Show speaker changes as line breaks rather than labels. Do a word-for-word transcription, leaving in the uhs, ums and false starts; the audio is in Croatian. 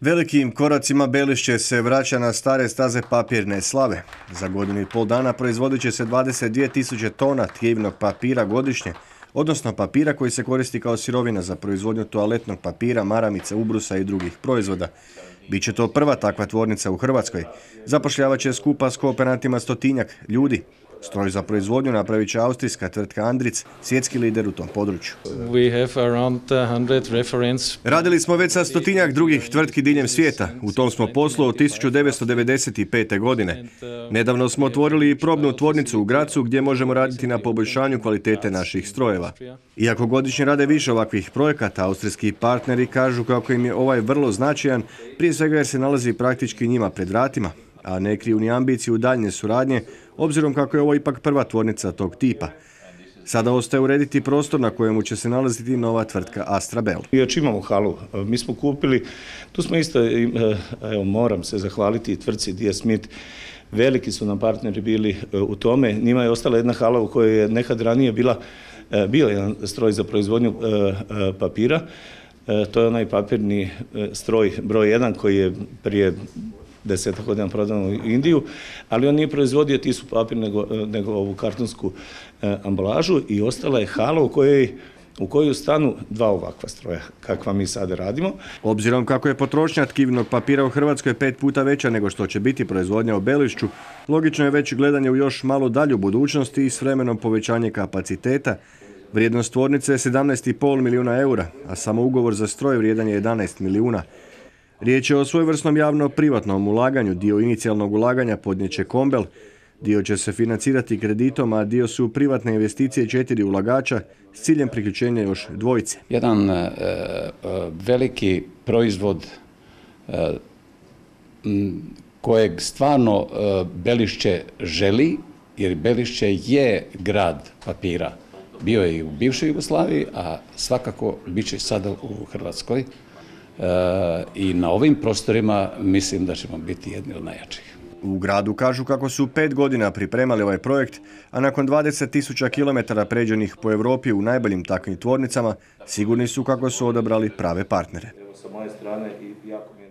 Velikim koracima Belišće se vraća na stare staze papirne slave. Za godinu i pol dana proizvodit će se dvadeset dvije tisuće tona tkivnog papira godišnje, odnosno papira koji se koristi kao sirovina za proizvodnju toaletnog papira, maramice, ubrusa i drugih proizvoda. Biće to prva takva tvornica u Hrvatskoj. Zapošljavat će skupa s kooperantima stotinjak ljudi. Stroj za proizvodnju napravit će austrijska tvrtka Andritz, svjetski lider u tom području. Radili smo već sa stotinjak drugih tvrtki diljem svijeta. U tom smo poslu od tisuću devetsto devedeset pete. godine. Nedavno smo otvorili i probnu tvornicu u Grazu gdje možemo raditi na poboljšanju kvalitete naših strojeva. Iako godišnje rade više ovakvih projekata, austrijski partneri kažu kako im je ovaj vrlo značajan, prije svega jer se nalazi praktički njima pred vratima, a ne kriju ni ambiciju daljnje suradnje, obzirom kako je ovo ipak prva tvornica tog tipa. Sada ostaje urediti prostor na kojemu će se nalaziti nova tvrtka Astrabel.
Još imamo halu, mi smo kupili, tu smo isto, evo moram se zahvaliti tvrtci D S Smith, veliki su nam partneri bili u tome, njima je ostala jedna hala u kojoj je nekad ranije bila, bio jedan stroj za proizvodnju papira. To je onaj papirni stroj broj jedan koji je prije desetak godina prodan u Indiju, ali on nije proizvodio tisu papir nego, nego ovu kartonsku ambalažu i ostala je hala u kojoj u koju stanu dva ovakva stroja, kakva mi sada radimo.
Obzirom kako je potrošnja tkivnog papira u Hrvatskoj pet puta veća nego što će biti proizvodnja u Belišću, logično je već gledanje u još malo dalju budućnosti i s vremenom povećanje kapaciteta. Vrijednost tvornice je sedamnaest zarez pet milijuna eura, a samo ugovor za stroj vrijedan je jedanaest milijuna. Riječ je o svojevrsnom javno-privatnom ulaganju. Dio inicijalnog ulaganja podnijet će Kombel, dio će se financirati kreditom, a dio su privatne investicije četiri ulagača s ciljem priključenja još dvojice.
Jedan e, veliki proizvod e, kojeg stvarno e, Belišće želi, jer Belišće je grad papira. Bio je i u bivšoj Jugoslaviji, a svakako bit će sada u Hrvatskoj. E, i na ovim prostorima mislim da ćemo biti jedni od najjačih.
U gradu kažu kako su pet godina pripremali ovaj projekt, a nakon dvadeset tisuća kilometara pređenih po Europi u najboljim takvim tvornicama, sigurni su kako su odabrali prave partnere.
Evo sa moje strane i jako mi je